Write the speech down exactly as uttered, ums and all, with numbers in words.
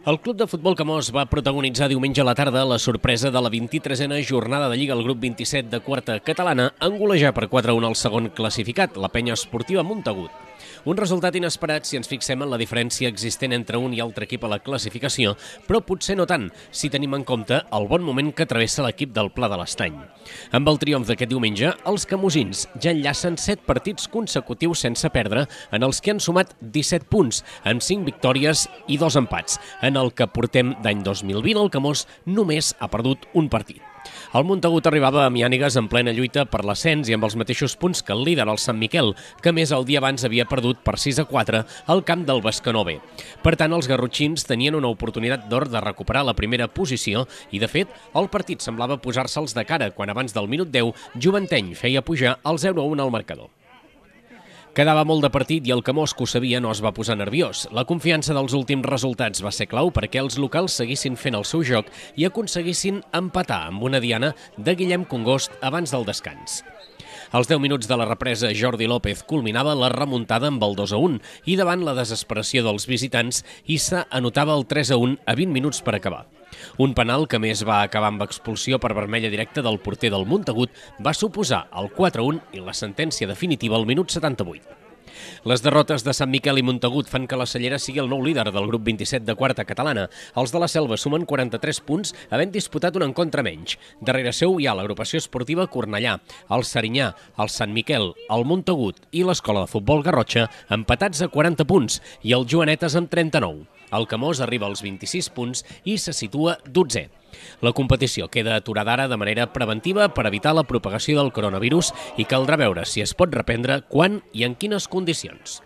El Club de Futbol Camós va protagonitzar diumenge a la tarda la sorpresa de la vint-i-tresena jornada de Lliga al grup vint-i-set de quarta catalana en golejar per quatre a un al segon classificat, la Penya Esportiva Montagut. Un resultat inesperat si ens fixem en la diferència existent entre un i altre equip a la classificació, però potser no tant, si tenim en compte el bon moment que travessa l'equip del Pla de l'Estany. Amb el triomf d'aquest diumenge, els camosins ja enllacen set partits consecutius sense perdre, en els que han sumat disset punts, amb cinc victòries i dos empats. En el que portem d'any dos mil vint, el Camós només ha perdut un partit. El Montagut arribava a Miànigues en plena lluita per l'ascens i amb els mateixos punts que el líder, el Sant Miquel, que més el dia abans havia perdut per sis a quatre al camp del Bescanó B. Per tant, els garrotxins tenien una oportunitat d'or de recuperar la primera posició i, de fet, el partit semblava posar-se'ls de cara quan abans del minut deu Joventeny feia pujar el zero a un al marcador. Quedava molt de partit i el Camós, que ho sabia, no es va posar nerviós. La confiança dels últims resultats va ser clau perquè els locals seguissin fent el seu joc i aconseguissin empatar amb una diana de Guillem Congost abans del descans. Als deu minuts de la represa, Jordi López culminava la remuntada amb el dos a un i davant la desesperació dels visitants, Issa anotava el tres a un a vint minuts per acabar. Un penal que més va acabar amb expulsió per vermella directa del porter del Montagut va suposar el quatre a un i la sentència definitiva al minut setanta-vuit. Les derrotes de Sant Miquel i Montagut fan que la Cellera sigui el nou líder del grup vint-i-set de quarta catalana. Els de la Selva sumen quaranta-tres punts, havent disputat un encontre menys. Darrere seu hi ha l'agrupació esportiva Cornellà, el Serinyà, el Sant Miquel, el Montagut i l'Escola de Futbol Garrotxa, empatats a quaranta punts, i el Joanetes amb trenta-nou. El Camós arriba als vint-i-sis punts i se situa dotzè. La competició queda aturada ara de manera preventiva per evitar la propagació del coronavirus i caldrà veure si es pot reprendre quan i en quines condicions.